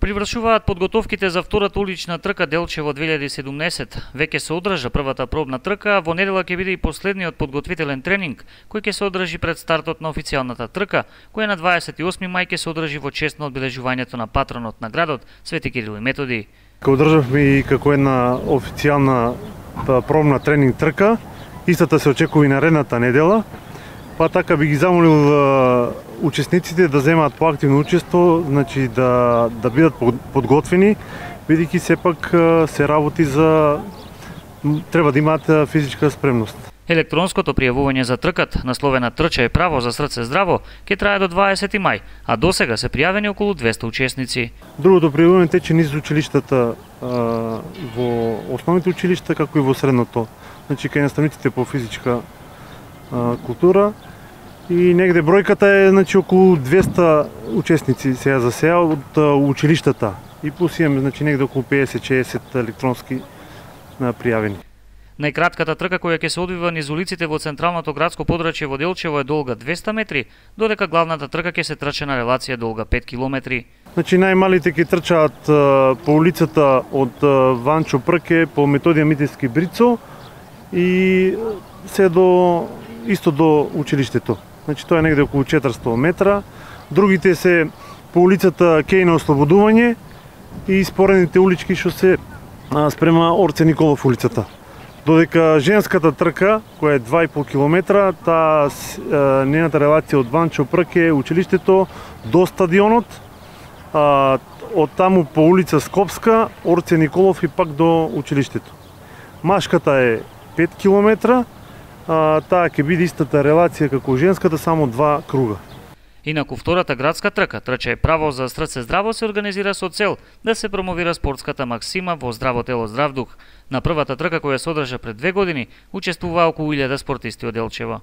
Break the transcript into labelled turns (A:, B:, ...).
A: Привршуваат подготовките за втората улична трка Делчево 2017. Веќе се одржа првата пробна трка, во недела ќе биде и последниот подготвителен тренинг, кој ќе се одржи пред стартот на официјалната трка, која на 28 мај ќе се одржи во чест на одбележувањето на патронот на градот, Свети Кирил и Методи.
B: Ке одржавме и како една официјална пробна тренинг трка, истата се очекува и наредната недела, па така би ги замолил учесниците да земаат поактивно учество, значи да бидат подготвени, бидејќи сепак се работи за треба да имаат физичка спремност.
A: Електронското пријавување за тркат, насловена Трча е право за срце здраво, ќе трае до 20 мај, а досега се пријавени околу 200 учесници.
B: Другото пријавување тече низ училиштата во основните училишта, како и во средното, значи кај наставниците по физичка култура. И негде бројката е значи околу 200 учесници сега за сега од училиштата. И плюс имаме значи негде околу 50-60 електронски пријавени.
A: Најкратката трка која ќе се одвива низ улиците во централното градско подрачје во Делчево е долга 200 метри, додека главната трка ќе се трча на релација долга 5 километри.
B: Значи најмалите ќе трчаат по улицата од Ванчо Прке по Методија Митевски Брицо и се исто до училиштето. Значи тоа е негде околу 400 метра. Другите се по улицата Кеј на Ослободување и споредните улички што се спрема Орце Николов улицата. Додека женската трка, која е 2,5 километра, таа нејната релација од Ванчо Прке училиштето до стадионот, од таму по улица Скопска, Орце Николов и пак до училиштето. Машката е 5 километра, таа ќе биде истата релација како женската, само 2 круга.
A: Инаку втората градска трка, Трча е право за срце здраво, се организира со цел да се промовира спортската максима во здраво тело, здрав дух. На првата трка која се одржа пред 2 години, учествуваа околу 1000 спортисти од Делчево.